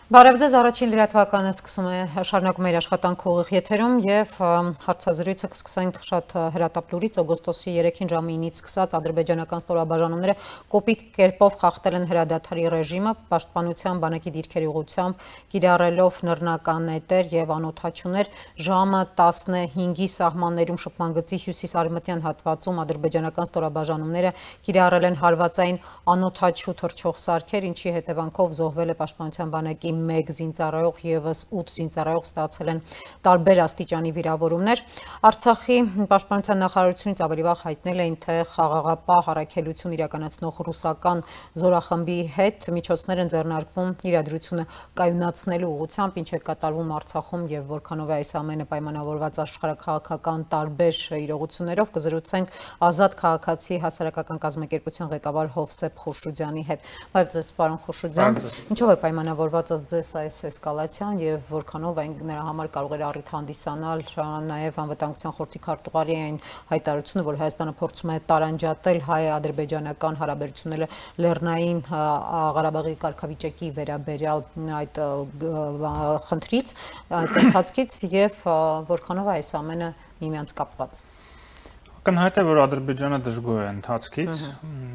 Բարև ձեզ, առաջին լրատվականը սկսում է շարունակում իր աշխատանքը ուղիղ եթերում եւ հարցազրույցը կսկսենք շատ հրատապ լուրից օգոստոսի 3-ին ժամի 9-ից սկսած ադրբեջանական ստորաբաժանումները կոպիտ կերպով խախտել են հրադադարի ռեժիմը պաշտպանության բանակի դիրքերի ուղղությամբ կիրառելով նռնական նետեր եւ անօդաչուներ ժամը 15-ի սահմաններում շփման գծի հյուսիս-արևմտյան հատվածում ադրբեջանական ստորաբաժանումները կիրառել են հարվածային անօդաչու թռչող սարքեր, ինչի հետևանքով զոհվել է պաշտպանության բանակի 1 զինծառայող եւս 8 զինծառայող ստացել են տարբեր աստիճանի վիրավորումներ։ Արցախի պաշտպանության նախարարությունից ավելի վաղ հայտնել էին, թե խաղաղապահ առաքելություն իրականացնող ռուսական զորախմբի հետ միջոցներ են ձեռնարկվում իրադրությունը կայունացնելու ուղղությամբ, ինչ է կատարվում Արցախում եւ որքանով է այս ամենը պայմանավորված աշխարհաքաղաքական տարբեր իրողություններով կզրուցենք Ազատ քաղաքացի հասարակական կազմակերպության ղեկավար Հովսեփ Խուրշուդյանի հետ։ Բարև ձեզ, պարոն Խուրշուդյան, ինչով է պայմանավորված ձեզ այս էսկալացիան եւ որքանով այն նրա համար կարող էր առիթ հանդիսանալ նաեւ անվտանգության խորհրդի քարտուղարի այն հայտարարությունը, որ Հայաստանը փորձում է տարանջատել հայ-ադրբեջանական հարաբերությունները Լեռնային Ղարաբաղի կարգավիճակի վերաբերյալ այդ խնդրից, այդ ընթացքից եւ որքանով այս ամենը միմյանց կապված։ Ակնհայտ է, որ Ադրբեջանը դժգոհ է ընթացքից,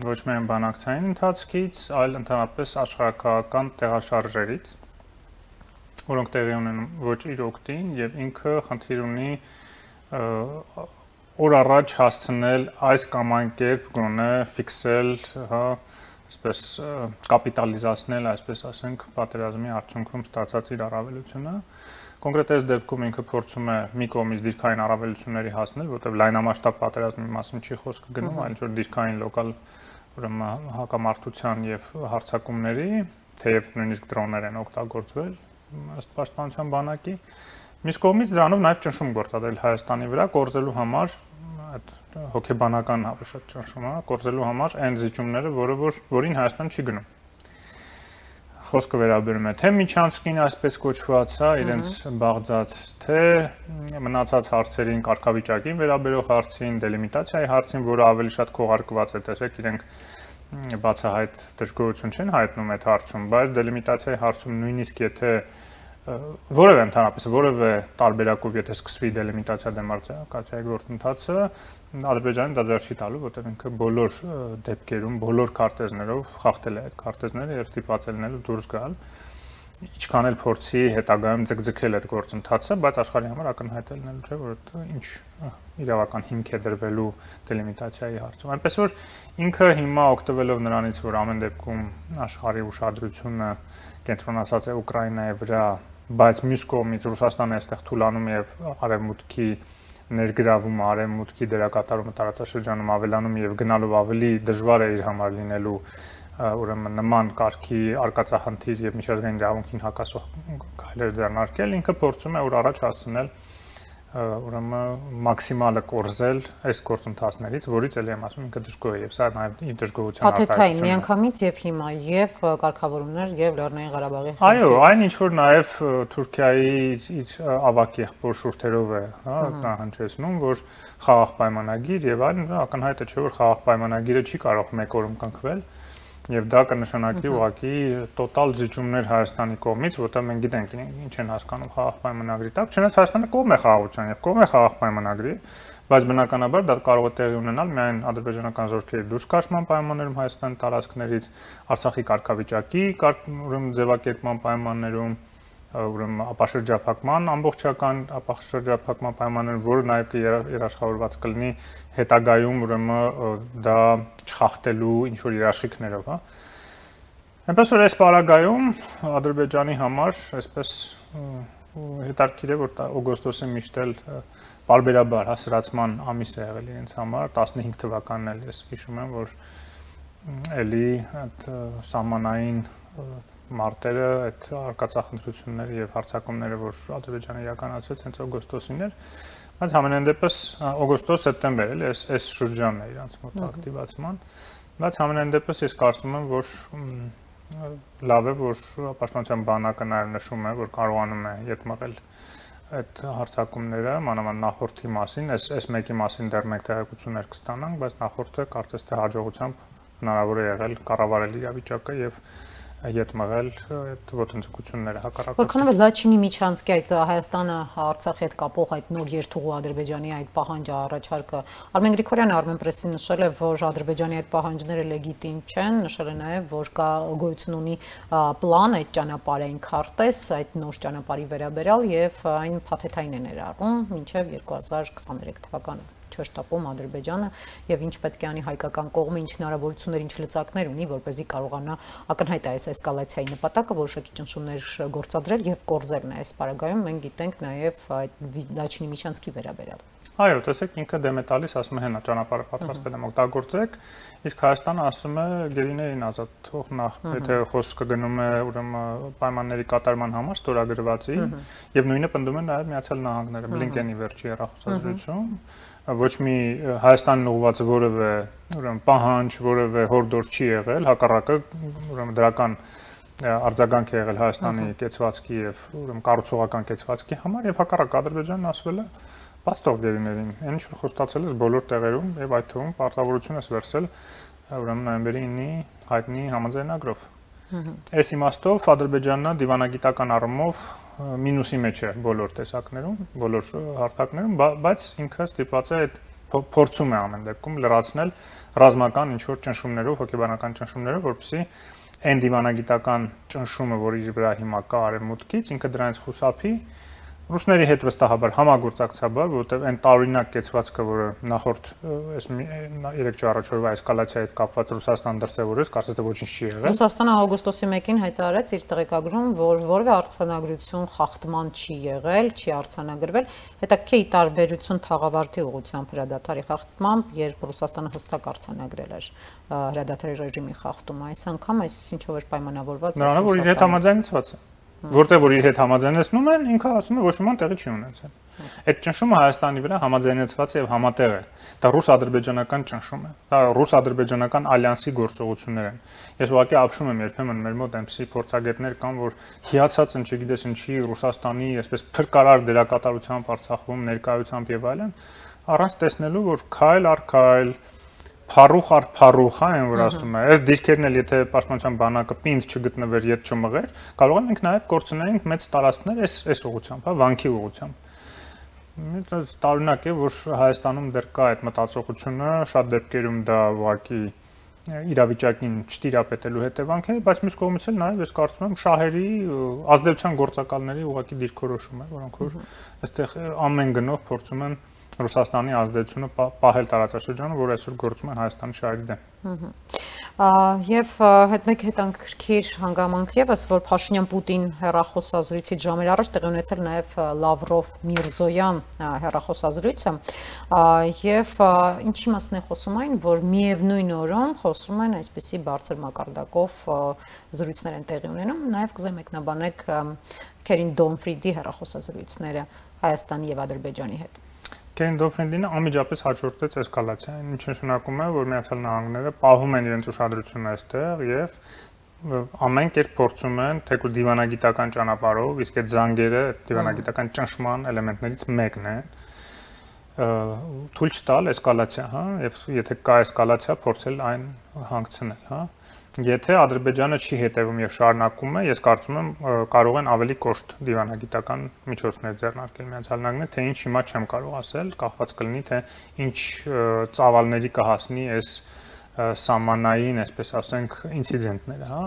ոչ միայն բանակցային ընթացքից, այլ ընդհանրապես աշխարհաքաղաքական տեղաշարժերից, որոնք տեղի ունեն ոչ իր օգտին եւ ինքը խնդիր ունի օր առաջ հասցնել այս կամ այն կերպ գոնե ֆիքսել, այսպես կապիտալիզացնել, այսպես ասենք, պատերազմի արդյունքում ստացած իր առավելությունը։ Կոնկրետ այս դեպքում ինքը փորձում է մի կողմից դիրքային առավելությունների հասնել, որտեղ լայնամասշտաբ պատերազմի մասին չի խոսքը գնում, այլ որ դիրքային լոկալ ուրեմն հակամարտության եւ հարձակումների, թեև նույնիսկ դրոններ են օգտագործվել ըստ պաշտպանության բանակի, մյուս կողմից դրանով նաեւ ճնշում գործադրել Հայաստանի վրա կորզելու համար, այդ հոգեբանական հավաշատ ճնշումը, կորզելու համար այն զիջումները, որին Հայաստան չի գնում։ Խոսքը վերաբերում է թե միջանցքին այսպես կոչված, իրենց բաղձած, թե մնացած հարցերին, կարգավիճակին վերաբերող հարցին, դելիմիտացիայի հարցին, որը ավելի շատ քողարկված է, տեսեք, իրենք բացահայտ դժգոհություն չեն հայտնում այդ հարցում, բայց դելիմիտացիայի հարցում նույնիսկ եթե որևէ ընդհանրապես որևէ տարբերակով եթե սկսվի դելիմիտացիա դեմարկացիայի գործընթացը, Ադրբեջանը դա ձեռք չի տալու, որտեղ ինքը բոլոր դեպքերում, բոլոր քարտեզներով խախտել է այդ քարտեզները եւ ստիպված է լինելու դուրս գալ, ինչքան էլ փորձի հետագայում ձգձգել այդ գործընթացը, բայց աշխարհի համար ակնհայտ է լինելու, չէ, որ ինչ իրավական հիմք է դրվելու դելիմիտացիայի հարցում։ Այնպես որ ինքը հիմա օգտվելով նրանից, որ ամեն դեպքում աշխարհի ուշադրությունը կենտրոնացած է Ուկրաինայի վրա, բայց մյուս կողմից Ռուսաստանը այստեղ թուլանում եւ արևմուտքի ներգրավումը, արևմուտքի դերակատարումը տարածաշրջանում ավելանում եւ գնալով ավելի դժվար է իր համար լինելու ուրեմն նման կարգի արկածախնդիր եւ միջազգային իրավունքին հակասող քայլեր ձեռնարկել, ինքը փորձում է օր առաջ հասցնել ուրեմն մաքսիմալը կորզել այս գործընթացներից, որից էլ եմ ասում ինքը դժգոհ է եւ սա նաեւ իր դժգոհության արտահայտությունն է։ Միանգամից եւ հիմա եւ կարգավորումներ եւ Լեռնային Ղարաբաղի խնդիր։ Այո, այն ինչ որ նաեւ Թուրքիայի իր ավակ եղբոր շուրթերով է, նահանջեցնում, որ խաղաղ պայմանագիր եւ այլն, ակնհայտ է, չէ՞ որ խաղաղ պայմանագիրը չի կարող մեկ օրում կնքվել։ Եվ դա կնշանակի ուղղակի տոտալ զիջումներ Հայաստանի կողմից, որտեղ մենք գիտենք ինչ են հասկանում խաղաղ պայմանագրի տակ, չնայած Հայաստանը կողմ է խաղաղության եւ կողմ է խաղաղ պայմանագրի, բայց բնականաբար դա կարող է տեղի ունենալ միայն ադրբեջանական զորքերի դուրս քաշման պայմաններում Հայաստանի տարածքներից, Արցախի կարգավիճակի, ուրեմն ձևակերպման պայմաններում, ուրեմն ապաշրջափակման ամբողջական ապաշրջափակման պայմաններում, որը նաեւ երաշխավորված կլինի հետագայում ուրեմն դա չխախտելու ինչ որ երաշխիքներով, հա։ Այնպես որ այս պարագայում Ադրբեջանի համար այսպես հետաքրքիր է, որ օգոստոսը միշտ էլ բարբերաբար հասարացման ամիս է եղել իրենց համար, 15 թվականն էլ ես հիշում եմ, որ էլի այդ սահմանային մարտերը, այդ արկածախնդրությունները եւ հարձակումները, որ Ադրբեջանը իրականացրեց հենց օգոստոսին էր, բայց համենայն դեպս օգոստոս-սեպտեմբեր էլ այս շրջանն է իրանց մոտ ակտիվացման, բայց համենայն դեպս ես կարծում եմ, որ լավ է, որ պաշտպանության բանակը նաեւ նշում է, որ կարողանում է ետ մղել այդ հարձակումները, մանավանդ նախորդի մասին, այս մեկի մասին դեռ մեկ տեղեկություններ կստանանք, բայց նախորդը կարծես թե հաջողությամբ հնարավոր է եղել կառավարել իրավիճակը եւ ետ մղել այդ ոտնձգությունները հակառակորդ։ Որքանով է Լաչինի միջանցքի այդ Հայաստանը Արցախի հետ կապող այդ նոր երթուղու Ադրբեջանի այդ պահանջը առաջարկը Արմեն Գրիգորյանը Armenpress-ին նշել է, որ Ադրբեջանի այդ պահանջները լեգիտիմ չեն, նշել է նաև, որ կա գոյություն ունի պլան այդ ճանապարհային քարտեզ, այդ նոր ճանապարհի վերաբերյալ եւ այն փաթեթային է ներառում մինչեւ 2023 թվականը։ Չշտապում Ադրբեջանը եւ ինչ պետք է անի հայկական կողմը, ինչ հնարավորություններ, ինչ լծակներ ունի, որպեսզի կարողանա ակնհայտ այս էսկալացիայի նպատակը որոշակի ճնշումներ գործադրել եւ կորզել այս պարագայում մենք գիտենք նաեւ այդ Լաչինի միջանցքի վերաբերյալ։ Այո, տեսեք ինքը դեմ է տալիս, ասում է հենա ճանապարհը պատրաստել եմ օգտագործեք, իսկ Հայաստանը ասում է գերիներին ազատ թող նախ, եթե խոսքը գնում է ուրեմն պայմանների կատարման համար ստորագրվածի եւ նույնը պնդում է նաեւ Միացյալ Նահանգները, Բլինկենի վերջի հեռախոսազրույցում, ոչ մի Հայաստանն ուղղված որևէ ուրեմն պահանջ, որևէ հորդոր չի եղել, հակառակը ուրեմն դրական արձագանք է եղել Հայաստանի կեցվածքի եւ ուրեմն կառուցողական կեցվածքի համար եւ հակառակ Ադրբեջանն ասվել է Պաստող գերիներին, այն ինչ խոստացել ես բոլոր տեղերում եւ այդ թվում պարտավորություն ես վերցել ուրեմն նոյեմբերի 9-ի հայտնի համաձայնագրով։ Այս իմաստով Ադրբեջանն դիվանագիտական առումով մինուսի մեջ է բոլոր տեսակներում, բոլոր հարթակներում, բայց ինքը ստիպված է այդ փորձում է ամեն դեպքում լրացնել ռազմական ինչ որ ճնշումներով, հոգեբանական ճնշումներով, որպեսզի այն դիվանագիտական ճնշումը, որ իր վրա հիմա կա արևմուտքից, ինքը դրանից խուսափի Ռուսների հետ վստահաբար համագործակցաբար, որովհետև այն տարօրինակ կեցվածքը, որը նախորդ այս 3-4 օրվա էսկալացիայի հետ կապված Ռուսաստան դրսևորեց, կարծես թե ոչինչ չի եղել։ Ռուսաստանը օգոստոսի 1-ին հայտարարեց իր տեղեկագրում, որ որևէ արձանագրություն խախտման չի եղել, չի արձանագրվել, հետաքրքիր տարբերություն թաղավարտի ուղղությամբ հրադադարի խախտմամբ, երբ Ռուսաստանը հստակ արձանագրել էր հրադադարի ռեժիմի խախտումը, այս անգամ այս ինչով էր պայմանավորված այս Ռուսաստանը։ Նա որ իր հետ համաձայնեցված է։ Որտեղ որ իր հետ համաձայնեցնում են, ինքը ասում է ոչ մի բան տեղի չի ունեցել։ Այդ ճնշումը Հայաստանի վրա համաձայնեցված է եւ համատեղ է։ Դա ռուս-ադրբեջանական ճնշում է։ Դա ռուս-ադրբեջանական ալյանսի գործողություններ են։ Ես ուղղակի ապշում եմ երբեմն մեր մոտ այնպիսի փորձագետներ կան, որ հիացած են, չգիտես ինչի Ռուսաստանի այսպես փրկարար դերակատարությամբ Արցախում ներկայությամբ եւ այլն, առանց տեսնելու, որ քայլ առ քայլ Փարուխ առ փարուխ, այն որ ասում է, այս դիրքերն էլ եթե պաշտպանության բանակը պինդ չգտնվեր, ետ չմղեր, կարող ենք նաև կորցնենք մեծ տարածքներ այս ուղղությամբ, հա, վանքի ուղղությամբ։ Դա տարօրինակ է, որ Հայաստանում դեռ կա այդ մտածողությունը, շատ դեպքերում դա ուղղակի իրավիճակին չտիրապետելու հետևանք է, բայց մյուս կողմից էլ նաև ես կարծում եմ շահերի ազդեցության գործակալների ուղղակի դիրքորոշում է, որոնք որ այստեղ ամեն գնով փորձում են Ռուսաստանի ազդեցությունը պահել տարածաշրջանում, որ այսօր գործում է Հայաստանի շահերի դեմ։ Եվ հետ մեկ հետաքրքիր հանգամանք եւս, որ Փաշինյան-Պուտին հեռախոսազրույցից ժամեր առաջ տեղի ունեցել նաեւ Լավրով-Միրզոյան հեռախոսազրույցը, եւ ինչի մասն է խոսում այն, որ միևնույն օրում խոսում են այսպիսի բարձր մակարդակով զրույցներ են տեղի ունենում, նաեւ կուզեմ մեկնաբանեք Քերին Դոնֆրիդի հեռախոսազրույցները Հայաստանի եւ Ադրբեջանի հետ։ Քերին Դոնֆրիդին անմիջապես հաջորդեց էսկալացիան, ինչը նշանակում է, որ Միացյալ Նահանգները պահում են իրենց ուշադրությունը այստեղ եւ ամեն կերպ փորձում են թեկուզ դիվանագիտական ճանապարհով, իսկ այդ զանգերը դիվանագիտական ճնշման էլեմենտներից մեկն է, թույլ չտալ էսկալացիա, հա, եւ եթե կա էսկալացիա, փորձել այն հանգցնել, հա։ Եթե Ադրբեջանը չի հետևում եւ շարունակում է, ես կարծում եմ կարող են ավելի կոշտ դիվանագիտական միջոցներ ձեռնարկել Միացյալ Նահանգները, թե ինչ հիմա չեմ կարող ասել, կախված կլինի թե ինչ ծավալների կհասնի այս սահմանային, այսպես ասենք, ինցիդենտները, հա,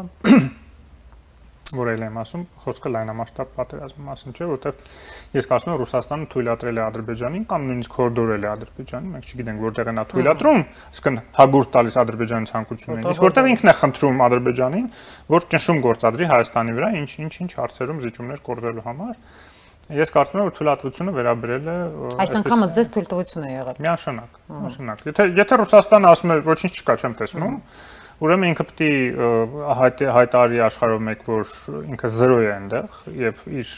որ էլ եմ ասում, խոսքը լայնամասշտաբ պատերազմի մասին չէ, որտեղ ես կարծում եմ Ռուսաստանը թույլատրել է Ադրբեջանին կամ նույնիսկ հորդորել է Ադրբեջանին, մենք չգիտենք որտեղ է նա թույլատրում, այսինքն հագուրտ տալիս Ադրբեջանի ցանկություններին, իսկ որտեղ ինքն է խնդրում Ադրբեջանին, որ ճնշում գործադրի Հայաստանի վրա, ինչ հարցերում զիջումներ կորզելու համար։ Ես կարծում եմ, որ թույլատվությունը վերաբերել է այս անգամ ձեզ թույլտվություն է եղել։ Միանշանակ։ Եթե Ռուսաստանը ասում է ոչինչ չկա, չեմ տեսնում, ուրեմն ինքը պետք է հայտարարի աշխարհով մեկ, որ ինքը 0 է այնտեղ եւ իր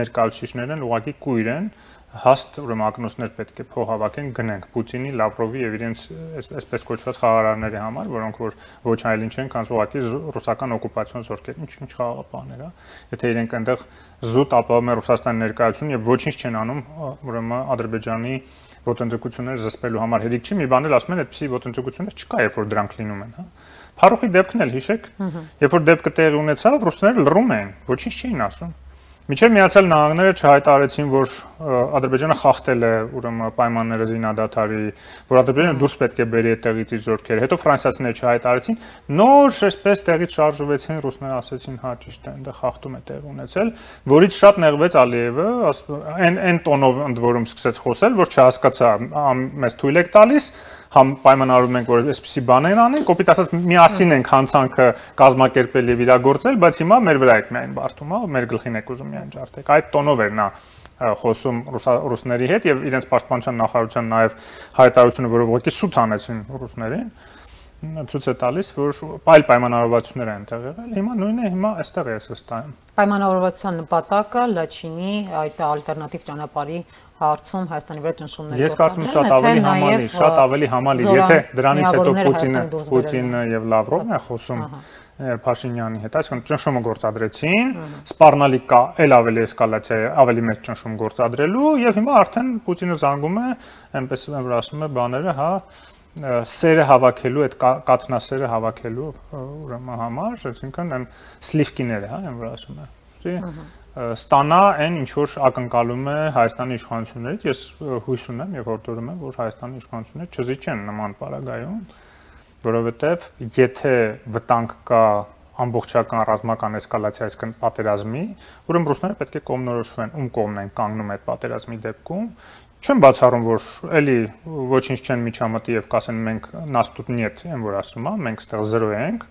ներկայացուցիչներն ուղղակի կույր են, հաստ ուրեմն ակնոցներ պետք է փոխհավաքեն գնենք Պուտինի, Լավրովի եւ իրենց այսպես կոչված խաղաղարարների համար, որոնք որ ոչ այլ ինչ են, քան ուղղակի ռուսական օկուպացիոն զորքեր, ինչ խաղաղապահներ, հա։ Եթե իրենք այնտեղ զուտ ապահովում են Ռուսաստանի ներկայությունը եւ ոչինչ չեն անում, ուրեմն Ադրբեջանի ոտնձգությունները զսպելու համար հերիք չի, մի բան էլ ասում են, այդպիսի ոտնձգություններ չկա, երբ որ դրանք լինում են, հա։ Փարուխի դեպքն էլ հիշեք, երբ որ դեպքը տեղի ունեցավ, ռուսները լռում էին, ոչինչ չէին ասում։ Միջև Միացյալ Նահանգները չհայտարարեցին, որ Ադրբեջանը խախտել է ուրեմն պայմանները զինադադարի, որ Ադրբեջանը դուրս պետք է բերի այդտեղից իր զորքերը։ Հետո ֆրանսիացիները չհայտարարեցին, նոր այսպես տեղից շարժվեցին, ռուսները ասեցին, հա ճիշտ է, այնտեղ խախտում է տեղ ունեցել, որից շատ նեղվեց Ալիևը, այն տոնով ընդ որում սկսեց խոսել, որ չհասկացա, մեզ թույլ եք տալիս, համ պայմանավորում ենք, որ այսպիսի բաներ անենք, կոպիտ ասած միասին ենք հանցանքը կազմակերպել եւ իրագործել, բայց հիմա մեր վրա եք միայն բարդում, հա, մեր գլխին եք ուզում միայն ջարդեք։ Այդ տոնով էր նա խոսում ռուսների հետ եւ իրենց պաշտպանության նախարարության նաեւ հայտարարությունը, որով ուղղակի սուտ հանեցին ռուսներին, ցույց է տալիս, որ այլ պայմանավորվածություններ են տեղ եղել։ Հիմա նույնն է, հիմա այստեղ է վստահ։ Պայմանավորվածության նպատակը Լաչինի այդ ալտերնատիվ ճանապարհի հարցում Հայաստանի վրա ճնշումներ Ես կարծում եմ շատ ավելի համալիր, եթե դրանից հետո Պուտինը եւ Լավրովն են խոսում Փաշինյանի հետ, այսինքն ճնշումը գործադրեցին, սպառնալիք կա էլ ավելի էսկալացիա, ավելի մեծ ճնշում գործադրելու եւ հիմա արդեն Պուտինը զանգում է, այնպես որ ասում է բաները, հա, սերը հավաքելու, այդ կաթնասերը հավաքելու ուրեմն համար, այսինքն այն սլիվկիները, հա, այն որ ասում է։ Ստանա այն ինչ որ ակնկալում է Հայաստանի իշխանություններից, ես հույս ունեմ եւ հորդորում եմ, որ Հայաստանի իշխանությունները չզիջեն նման պարագայում, որովհետեւ եթե վտանգ կա ամբողջական ռազմական էսկալացիա, այսինքն պատերազմի, ուրեմն ռուսները պետք է կողմնորոշվեն, ում կողմն են կանգնում այդ պատերազմի դեպքում։ Չեմ բացառում, որ էլի ոչինչ չեն միջամտի եւ կասեն մենք նաստուտ նիետ, այն որ ասում է, մենք ստեղ 0 ենք,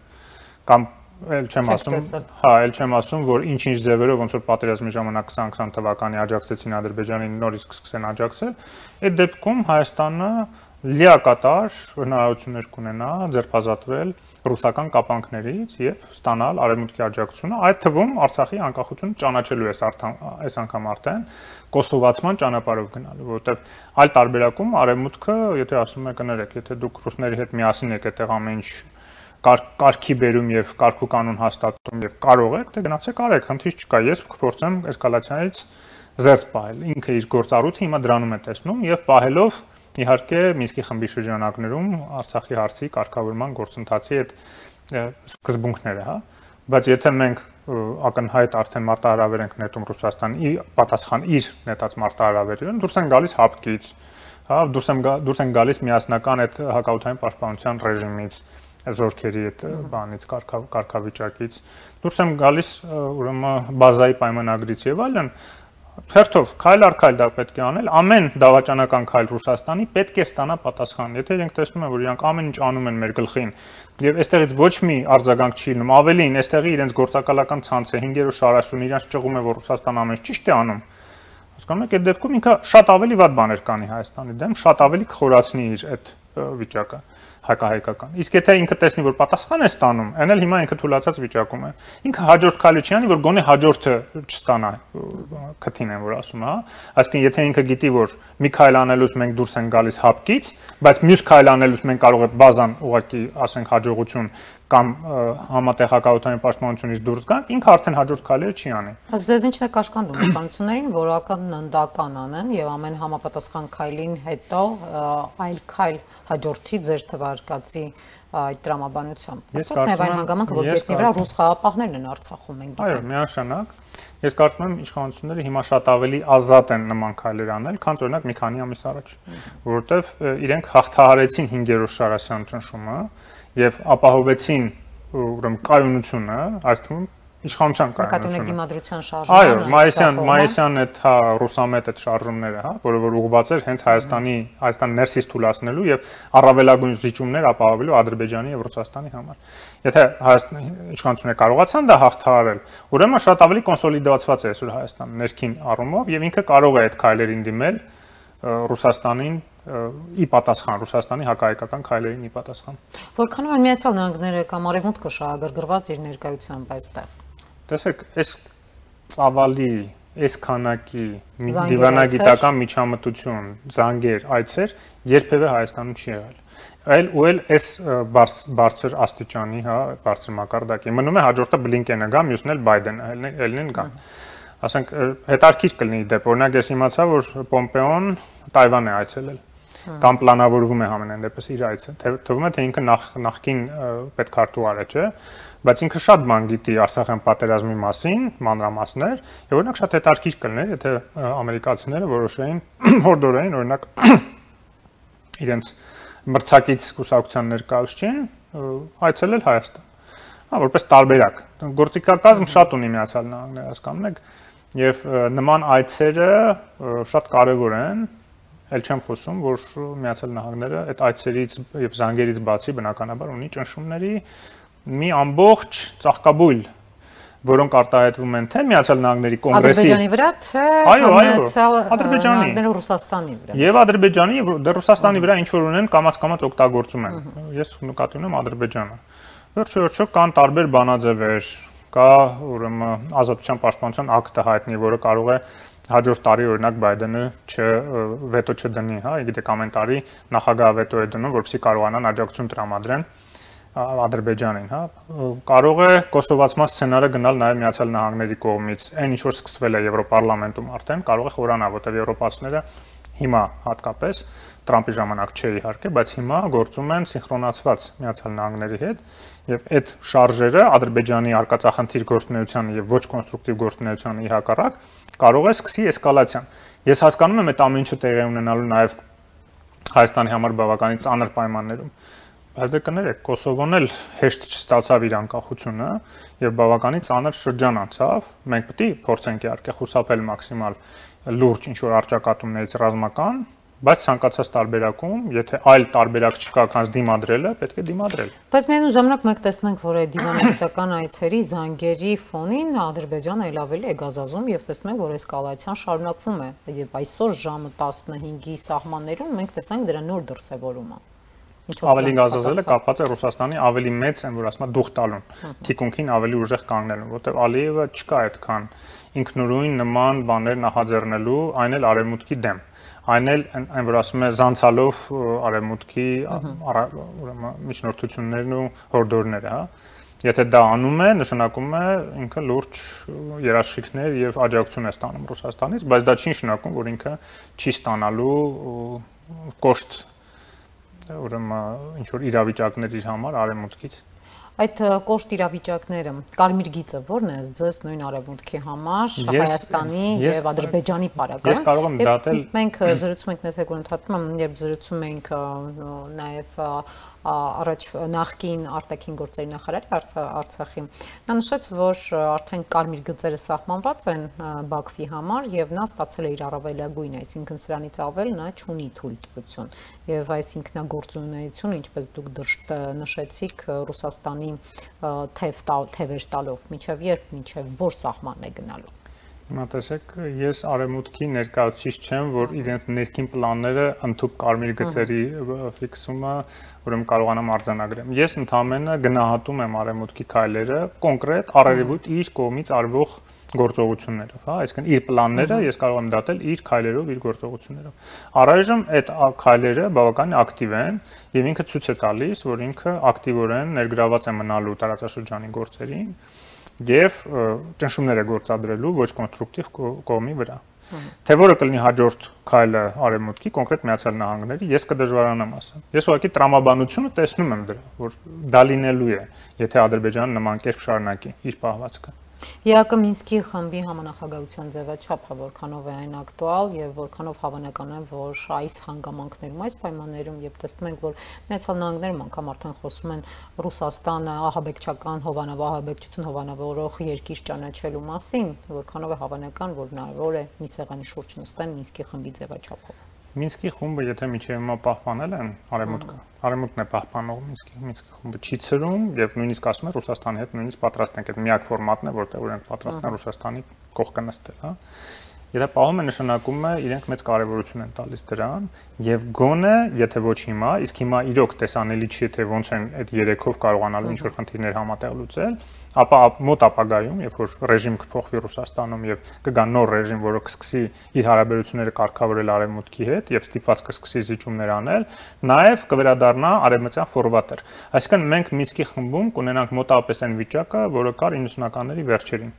կամ էլ չեմ ասում, հա, էլ չեմ ասում, որ ինչ-ինչ ձևերով ոնց որ պատերազմի ժամանակ 2020 թվականի աջակցեցին Ադրբեջանին, նորից կսկսեն աջակցել, այդ դեպքում Հայաստանը լիակատար հնարավորություններ կունենա ձերբազատվել ռուսական կապանքներից եւ ստանալ արևմուտքի աջակցությունը, այդ թվում Արցախի անկախությունը ճանաչելու այս անգամ արդեն կոսովացման ճանապարհով գնալու, որովհետեւ այլ տարբերակում արևմուտքը, եթե ասում եք կներեք, եթե դուք ռուսների հետ միասին եք այդտեղ ամեն ինչ կարգի բերում եւ կարգու կանոն հաստատում եւ կարող եք, դե գնացեք արեք, խնդիր չկա, ես կփորձեմ էսկալացիայից զերծ պահել, ինքը իր գործառույթը հիմա դրանում է տեսնում եւ պահելով իհարկե Մինսկի խմբի շրջանակներում Արցախի հարցի կարգավորման գործընթացի այդ սկզբունքները, հա, բայց եթե մենք ակնհայտ արդեն մարտահրավեր ենք նետում Ռուսաստանի պատասխան իր նետած մարտահրավերին, դուրս են գալիս հապկից, հա, դուրս են գալիս միասնական այդ հակաօդային պաշտպանության ռեժիմից, զորքերի այդ բանից կարգավիճակից, դուրս են գալիս ուրեմն բազայի պայմանագրից եւ այլն, հերթով քայլ առ քայլ դա պետք է անել, ամեն դավաճանական քայլ Ռուսաստանի պետք է ստանա պատասխան։ Եթե իրենք տեսնում են, որ իրանք ամեն ինչ անում են մեր գլխին, եւ այստեղից ոչ մի արձագանք չի լինում, ավելին, այստեղի իրենց գործակալական ցանցը 5-րդ շարասյուն իրանք ճղում է, որ Ռուսաստանը ամեն ինչ ճիշտ է անում։ Հասկանում եք, այդ դեպքում ինքը շատ ավելի վատ բաներ կանի Հայաստանի դեմ, շատ ավելի կխորացնի իր այդ վիճակը հակահայկական։ Իսկ եթե ինքը տեսնի, որ պատասխան է ստանում, այն էլ հիմա ինքը թույլատրած վիճակում է։ Ինքը հաջորդ քայլը չի անի, որ գոնե հաջորդը չստանա քթին են, որ ասում է, հա։ Այսինքն եթե ինքը գիտի, որ մի քայլ անելուց մենք դուրս են գալիս հապկից, բայց մյուս քայլ անելուց մենք կարող է բազան ուղղակի, ասենք, հաջողություն կամ համատեղ հակաօդային պաշտպանությունից դուրս գանք, ինքը արդեն հաջորդ քայլերը չի անի։ Բայց դες ինչն է կաշկանդում իշխանություններին, որական ընդդական անեն եւ ամեն համապատասխան քայլին հետո այլ քայլ հաջորդի ձեր թվարկածի այդ տրամաբանությամբ։ Այսօր նաև այն հանգամանքը, որ գետնի վրա ռուս խաղապահներն են Արցախում, մենք գիտենք։ Այո, միանշանակ։ Ես կարծում եմ իշխանությունները հիմա շատ ավելի ազատ են նման քայլեր անել, քան օրինակ մի քանի ամիս առաջ, որովհետեւ իրենք հաղթահարեցին 5-րդ շարասյան ճնշումը եւ ապահովեցին ուրեմն կայունությունը, այս թվում իշխանության կայունությունը։ Դիմադրության շարժումը։ Այո, մայիսյան այդ հա ռուսամետ այդ շարժումները, հա, որը որ ուղղված էր հենց Հայաստան ներսից թույլատնելու եւ առավելագույն զիջումներ ապահովելու Ադրբեջանի եւ Ռուսաստանի համար։ Եթե Հայաստանի իշխանությունը կարողացան դա հաղթահարել, ուրեմն շատ ավելի կոնսոլիդացված է այսօր Հայաստանը ներքին առումով եւ ինքը կարող է այդ քայլերին դիմել Ռուսաստանին ի պատասխան, Ռուսաստանի հակահայկական քայլերին ի պատասխան։ Որքանով են Միացյալ Նահանգները կամ Արևմուտքը շահագրգռված իր ներկայությամբ այստեղ։ Տեսեք, այս ծավալի, այս քանակի դիվանագիտական միջամտություն, զանգեր, այցեր երբևէ Հայաստանում չի եղել։ Այլ այս բարձր աստիճանի, հա, բարձր մակարդակի։ Մնում է հաջորդը Բլինկենը գա, մյուսն էլ Բայդենը ելնեն գա։ Ասենք հետարքիր կլինի դեպ, օրինակ ես իմացա, որ Պոմպեոն Թայվան է այցելել։ կամ պլանավորվում է համենայն դեպս իր այցը։ Թվում է թե ինքը նախքին պետքարտուղար է, չէ, բայց ինքը շատ բան գիտի Արցախյան պատերազմի մասին, մանրամասներ, եւ օրինակ շատ հետաքրքիր կլիներ, եթե ամերիկացիները որոշեին հորդորային օրինակ իրենց մրցակից կուսակցության ներկայացուցիչին այցելել Հայաստան։ Որպես տարբերակ։ Գործիքակազմ շատ ունի Միացյալ Նահանգները, հասկանում եք, եւ նման այցերը շատ կարեւոր են, ել չեմ խոսում, որ Միացյալ Նահանգները այդ այցերից եւ զանգերից բացի բնականաբար ունի ճնշումների մի ամբողջ ծաղկաբույլ, որոնք արտահայտվում են թե Միացյալ Նահանգների կոնգրեսի Ադրբեջանի վրա, թե Ադրբեջանի Ռուսաստանի վրա։ Եվ Ադրբեջանի եւ Ռուսաստանի վրա ինչ որ ունեն կամաց օգտագործում են։ Ես նկատի ունեմ Ադրբեջանը։ Վերջո կան տարբեր բանաձևեր, կա ուրեմն ազատության պաշտպանության ակտը հայտնի, որը կարող է հաջորդ տարի օրինակ Բայդենը վետո չդնի, հա, գիտեք ամեն տարի նախագահը վետո է դնում, որպեսզի կարողանան աջակցություն տրամադրեն Ադրբեջանին, հա, կարող է կոսովացման սցենարը գնալ նաև Միացյալ Նահանգների կողմից, այն ինչ որ սկսվել է Եվրոպարլամենտում արդեն, կարող է խորանալ, որտեղ եվրոպացիները հիմա հատկապես Տրամպի ժամանակ չէ իհարկե, բայց հիմա գործում են սինխրոնացված Միացյալ Նահանգների հետ եւ այդ շարժերը Ադրբեջանի արկածախնդիր գործունեությանը եւ ոչ կոնստրուկտիվ գործունեությանը հակառակ կարող է սկսի էսկալացիան։ Ես հասկանում եմ այդ ամեն ինչը տեղի ունենալու նաեւ Հայաստանի համար բավականին ծանր պայմաններում։ Բայց դե կներեք, Կոսովոն էլ հեշտ չստացավ իր անկախությունը եւ բավականին ծանր շրջան անցավ։ Մենք պետք է փորձենք իհարկե խուսափել մաքսիմալ լուրջ ինչ որ արճակատումներից ռազմական, բայց ցանկացած տարբերակում, եթե այլ տարբերակ չկա, քան դիմադրելը, պետք է դիմադրել։ Բայց միևնույն ժամանակ մենք տեսնում ենք, որ այդ դիվանագիտական այցերի զանգերի ֆոնին Ադրբեջանը ել ավելի է գազազում եւ տեսնում ենք, որ էսկալացիան շարունակվում է եւ այսօր ժամը 15-ի սահմաններում մենք տեսանք դրա նոր դրսևորումը։ Ավելի գազազելը կապված է Ռուսաստանի ավելի մեծ են, որ ասում է դուխ տալուն, թիկունքին ավելի ուժեղ կանգնելուն, որտեղ Ալիևը չկա այդքան ինքնուրույն նման բաներ նախաձեռնելու, այն էլ արևմուտքի դեմ, այն էլ այն որ ասում է զանցալով արևմուտքի ուրեմն միջնորդություններն ու հորդորները, հա։ Եթե դա անում է, նշանակում է ինքը լուրջ երաշխիքներ եւ աջակցություն է ստանում Ռուսաստանից, բայց դա չի նշանակում, որ ինքը չի ստանալու կոշտ ուրեմն ինչ որ իրավիճակներ իր համար արևմուտքից։ Այդ կոշտ իրավիճակները, կարմիր գիծը ո՞րն է ձեզ նույն արևմուտքի համար, Հայաստանի եւ Ադրբեջանի պարագայում։ Ես կարող եմ դատել։ Մենք զրուցում ենք նետեք ընդհատում, երբ զրուցում ենք նաեւ առաջ նախկին արտաքին գործերի նախարարի Արցախի, նա նշեց, որ արդեն կարմիր գծերը սահմանված են Բաքվի համար եւ նա ստացել է իր առավելագույնը, այսինքն սրանից ավել նա չունի թույլտվություն եւ այս ինքնագործունեությունը, ինչպես դուք նշեցիք, Ռուսաստանի թևեր տալով, մինչև որ սահմանն է գնալու։ Հիմա տեսեք, ես արևմուտքի ներկայացուցիչ չեմ, որ իրենց ներքին պլանները ընդհանուր կարմիր գծերի ֆիքսումը ուրեմն կարողանամ արձանագրեմ։ Ես ընդհանրապես գնահատում եմ արևմուտքի քայլերը կոնկրետ առերևույթ իր կողմից արվող գործողություններով, հա, այսինքն իր պլանները ես կարող եմ դատել իր քայլերով, իր գործողություններով։ Առայժմ այդ քայլերը բավականին ակտիվ են եւ ինքը ցույց է տալիս, որ ինքը ակտիվորեն ներգրաված է մնալու տարածաշրջանի գործերին եւ ճնշումներ է գործադրելու ոչ կոնստրուկտիվ կողմի վրա։ Թե որը կլինի հաջորդ քայլը արևմուտքի, կոնկրետ Միացյալ Նահանգների, ես կդժվարանամ ասել։ Ես ուղղակի տրամաբանությունը տեսնում եմ դրա, որ դա լինելու է, եթե Ադրբեջանը նման կերպ շարունակի իր պահվածքը։ ԵԱԿ Մինսկի խմբի համանախագահության ձևաչափը որքանով է այն ակտուալ եւ որքանով հավանական է, որ այս հանգամանքներում, այս պայմաններում, երբ տեսնում ենք, որ Միացյալ Նահանգներում անգամ արդեն խոսում են Ռուսաստանը ահաբեկչական ահաբեկչություն հովանավորող երկիր ճանաչելու մասին, որքանով է հավանական, որ հնարավոր է մի սեղանի շուրջ նստեն Մինսկի խմբի ձևաչափով։ Մինսկի խումբը եթե միջև հիմա պահպանել են արևմուտքն է պահպանող Մինսկի խումբը չի ցրում եւ նույնիսկ ասում է Ռուսաստանի հետ նույնիսկ պատրաստ ենք, այդ միակ ֆորմատն է, որտեղ իրենք պատրաստ են Ռուսաստանի կողքը նստել, հա։ Եթե պահում է նշանակում է իրենք մեծ կարևորություն են տալիս դրան եւ գոնե եթե ոչ հիմա, իսկ հիմա իրոք տեսանելի չի թե ոնց են այդ երեքով կարողանալու ինչ որ խնդիրներ համատեղ լուծել, ապա մոտ ապագայում, երբ որ ռեժիմ կփոխվի Ռուսաստանում եւ կգա նոր ռեժիմ, որը կսկսի իր հարաբերությունները կարգավորել արևմուտքի հետ եւ ստիպված կսկսի զիջումներ անել, նաեւ կվերադառնա արևմտյան ֆորվատեր։ Այսինքն մենք Մինսկի խմբում կունենանք մոտավորապես այն վիճակը, որը կար 90-ականների վերջերին,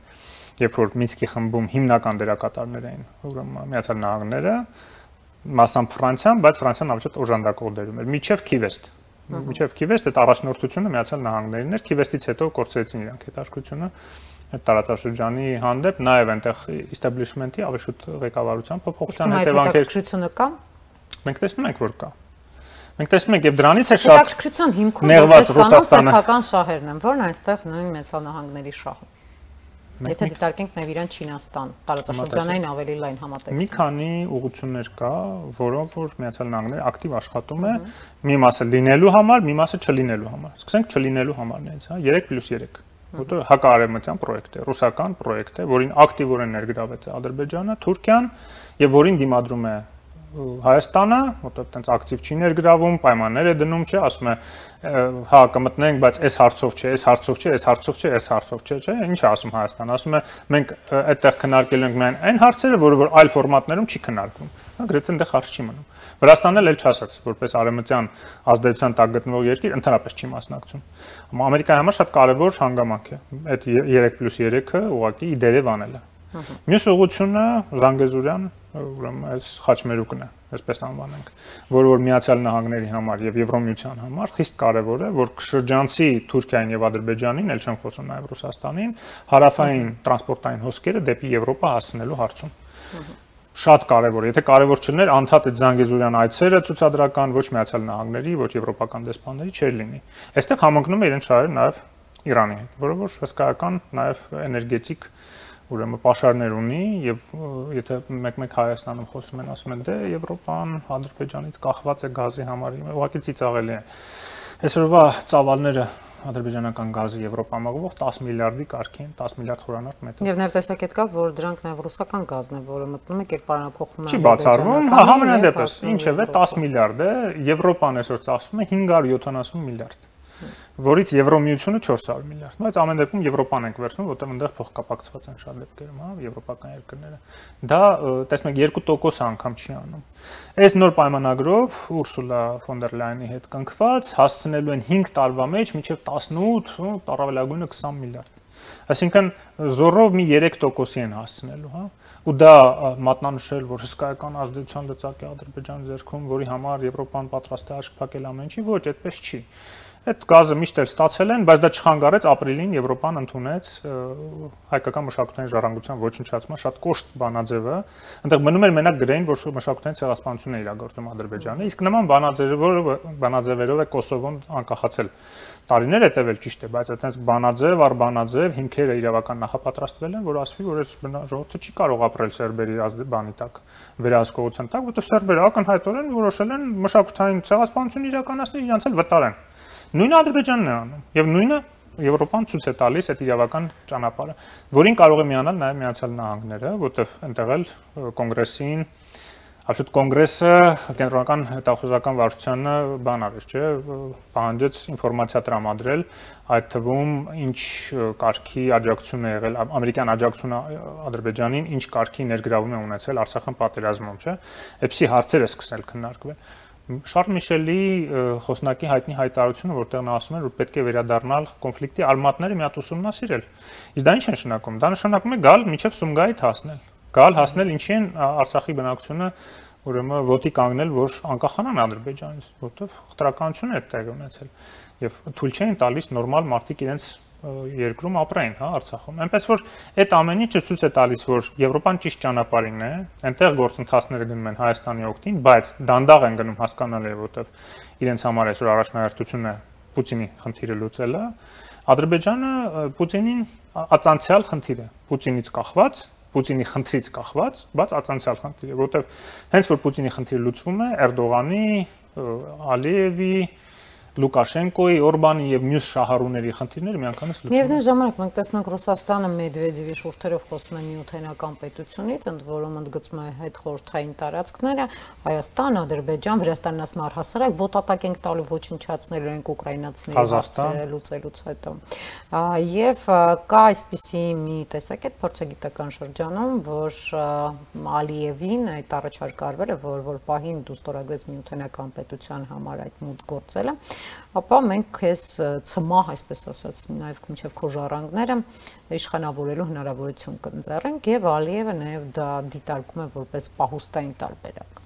երբ որ Մինսկի խմբում հիմնական դերակատարներ էին ուրեմն Միացյալ Նահանգները, մասամբ Ֆրանսիան, բայց Ֆրանսիան ավելի շատ օժանդակող դերում էր։ Միջև Քիվեստ։ Միջև Քիվեստ այդ առաջնորդությունը Միացյալ Նահանգներին էր, Քիվեստից հետո կորցրեցին իրանք հետաքրությունը այդ տարածաշրջանի հանդեպ, նաև այնտեղ establishment-ի ավելի շուտ ղեկավարության փոփոխության հետևանքեր։ Հետաքրքրությունը կա։ Մենք տեսնում ենք, որ կա։ Մենք տեսնում ենք, եւ դրանից է շատ հետաքրքրության հիմքում նեղված Ռուսաստանը սեփական շահերն են, որն այստեղ նույն Միացյալ Նահանգների շահը։ Եթե դիտարկենք նաև իրան Չինաստան, տարածաշրջանային ավելի լայն համատեքստ։ Մի քանի ուղղություններ կա, որոնց որ Միացյալ Նահանգները ակտիվ աշխատում է, մի մասը լինելու համար, մի մասը չլինելու համար։ Սկսենք չլինելու համարներից, հա, 3+3, որտեղ հակաարևմտյան պրոյեկտ է, ռուսական պրոյեկտ է, որին ակտիվորեն ներգրաված է Ադրբեջանը, Թուրքիան, եւ որին դիմադրում է Հայաստանը, որտեղ տենց ակտիվ չի ներգրավում, պայմաններ է դնում, չէ, ասում է, հա, կմտնենք, բայց այս հարցով չէ, այս հարցով չէ, այս հարցով չէ, այս հարցով չէ, չէ, ինչ է ասում Հայաստանը, ասում է, մենք այդտեղ քննարկելու ենք միայն այն հարցերը, որը որ այլ ֆորմատներում չի քննարկվում, հա, գրեթե այնտեղ հարց չի մնում։ Վրաստանն էլ չասաց, որպես արևմտյան ազդեցության տակ գտնվող երկիր ընդհանրապես չի մասնակցում։ Ամերիկայի համար շատ կարևոր հանգամանք է այդ 3+3-ը ուղղակի իդերև անելը։ Մյուս ուղղությունը Զանգեզուրյան, ուրեմն այս խաչմերուկն է, այսպես անվանենք, որը որ Միացյալ Նահանգների համար եւ Եվրոմիության համար խիստ կարեւոր է, որ շրջանցի Թուրքիային եւ Ադրբեջանին, ել չեմ խոսում նաեւ Ռուսաստանին, հարավային տրանսպորտային հոսքերը դեպի Եվրոպա հասցնելու հարցում։ Շատ կարևոր է, եթե կարևոր չլիներ, անդադ այդ Զանգեզուրյան այցերը ցուցադրական ոչ Միացյալ Նահանգների, ոչ եվրոպական դեսպանների չէր լինի։ Այստեղ համընկնում է իրեն շահերը նաեւ Իրանի հետ, որը որ հսկայական նաեւ էներգետիկ ուրեմն պաշարներ ունի եւ եթե մեկ-մեկ Հայաստանում խոսում են, ասում են դե Եվրոպան Ադրբեջանից կախված է գազի համար, ուղղակի ծիծաղելի է։ Այսօրվա ծավալները ադրբեջանական գազի Եվրոպա մղվող 10 միլիարդի կարգի են, 10 միլիարդ խորանարդ մետր։ Եվ նաև տեսակետ կա, որ դրանք նաև ռուսական գազն է, որը մտնում է կերպարանափոխում է։ Չի բացառվում, հա, համենայնդեպս, ինչևէ 10 միլիարդ է, Եվրոպան այսօր ծախսում է 570 միլիարդ, որից Եվրոմիությունը 400 միլիարդ, բայց ամեն դեպքում Եվրոպան ենք վերցնում, որտեղ այնտեղ փոխկապակցված են շատ դեպքերում, հա, եվրոպական երկրները։ Դա տեսնում եք 2% անգամ չի անում։ Այս նոր պայմանագրով Ուրսուլա ֆոն դեր Լայնի հետ կնքված հասցնելու են 5 տարվա մեջ մինչև 18, առավելագույնը 20 միլիարդ։ Այսինքն զորով մի 3%-ի են հասցնելու, հա։ Ու դա մատնանշել, որ հսկայական ազդեցության լծակ է Ադրբեջանի ձեռքում, որի համար Եվրոպան պատրաստ է աչք փակել ամեն ինչի, ոչ, այդպես չի։ Այդ գազը միշտ էլ ստացել են, բայց դա չխանգարեց ապրիլին Եվրոպան ընդունեց հայկական մշակութային ժառանգության ոչնչացման շատ կոշտ բանաձևը։ Այնտեղ մնում էր մենակ գրեին, որ մշակութային ցեղասպանություն է իրագործում Ադրբեջանը, իսկ նման բանաձևերով է Կոսովոն անկախացել։ Տարիներ է տևել, ճիշտ է, բայց այդպես բանաձև առ բանաձև հիմքերը իրավական նախապատրաստվել են, որ ասվի, որ այս ժողովուրդը չի կարող ապրել սերբերի բանի տակ, վերահսկողության տակ, որտեղ սերբերը ակնհայտորեն որոշել են մշակութային ցեղասպանություն իրականացնել, իրancs էլ վտարեն։ Նույնը Ադրբեջանն է անում եւ նույնը Եվրոպան ցույց է տալիս այդ իրավական ճանապարհը, որին կարող է միանալ նաեւ Միացյալ Նահանգները, որտեղ այնտեղ էլ կոնգրեսին, Աշուտ կոնգրեսը կենտրոնական հետախուզական վարչությանը բան արեց, չէ, պահանջեց ինֆորմացիա տրամադրել, այդ թվում ինչ կարգի աջակցություն է եղել, ամերիկյան աջակցությունը Ադրբեջանին, ինչ կարգի ներգրավում է ունեցել Արցախյան պատերազմում, չէ, այդպիսի հարցեր է սկսել քննարկվել։ Շարլ Միշելի խոսնակի հայտնի հայտարարությունը, որտեղ նա ասում է, որ պետք է վերադառնալ կոնֆլիկտի արմատները մի հատ ուսումնասիրել։ Իսկ դա ինչ է նշանակում։ Դա նշանակում է գալ մինչև Սումգայիթ հասնել։ Գալ հասնել ինչի են Արցախի բնակչությունը ուրեմն ոտի կանգնել, որ անկախանան Ադրբեջանից, որտեղ խտրականություն է տեղի ունեցել եւ թույլ չէին տալիս նորմալ մարդիկ իրենց երկրում ապրեն, հա, Արցախում։ Այնպես որ այդ ամեն ինչը ցույց է տալիս, որ Եվրոպան ճիշտ ճանապարհին է, այնտեղ գործընթացները գնում են Հայաստանի օգտին, բայց դանդաղ են գնում հասկանալի է, որտեղ իրենց համար այսօր առաջնահերթությունը Պուտինի խնդիրը լուծելը, Ադրբեջանը Պուտինին ածանցյալ խնդիր է, Պուտինից կախված, Պուտինի խնդրից կախված, բայց ածանցյալ խնդիր է, որտեղ հենց որ Պուտինի խնդիրը լուծվում է, Էրդողանի, Ալիևի, Լուկաշենկոյի, Օրբանի եւ մյուս շահառուների խնդիրները միանգամից լուծվում են։ Միևնույն ժամանակ մենք տեսնում Ռուսաստանը Մեդվեդևի շուրթերով խոսում է միութենական պետությունից, ընդ որում ընդգծում է հետխորհրդային տարածքները, Հայաստան, Ադրբեջան, Վրաստանն ասում առհասարակ ոտատակ ենք տալու ոչնչացնելու ենք ուկրաինացիների հարցերը լուծելուց հետո։ Եվ կա այսպիսի մի տեսակետ փորձագիտական շրջանում, որ Ալիևին այդ առաջարկը արվել է, որ պահին դու ստորագրես միութենական պետության համար այդ մուտք գործելը, ապա մենք քեզ ցմահ, այսպես ասած, նաև մինչև քո ժառանգները իշխանավորելու հնարավորություն կընձեռենք եւ Ալիևը նաև դա դիտարկում է որպես պահուստային տարբերակ։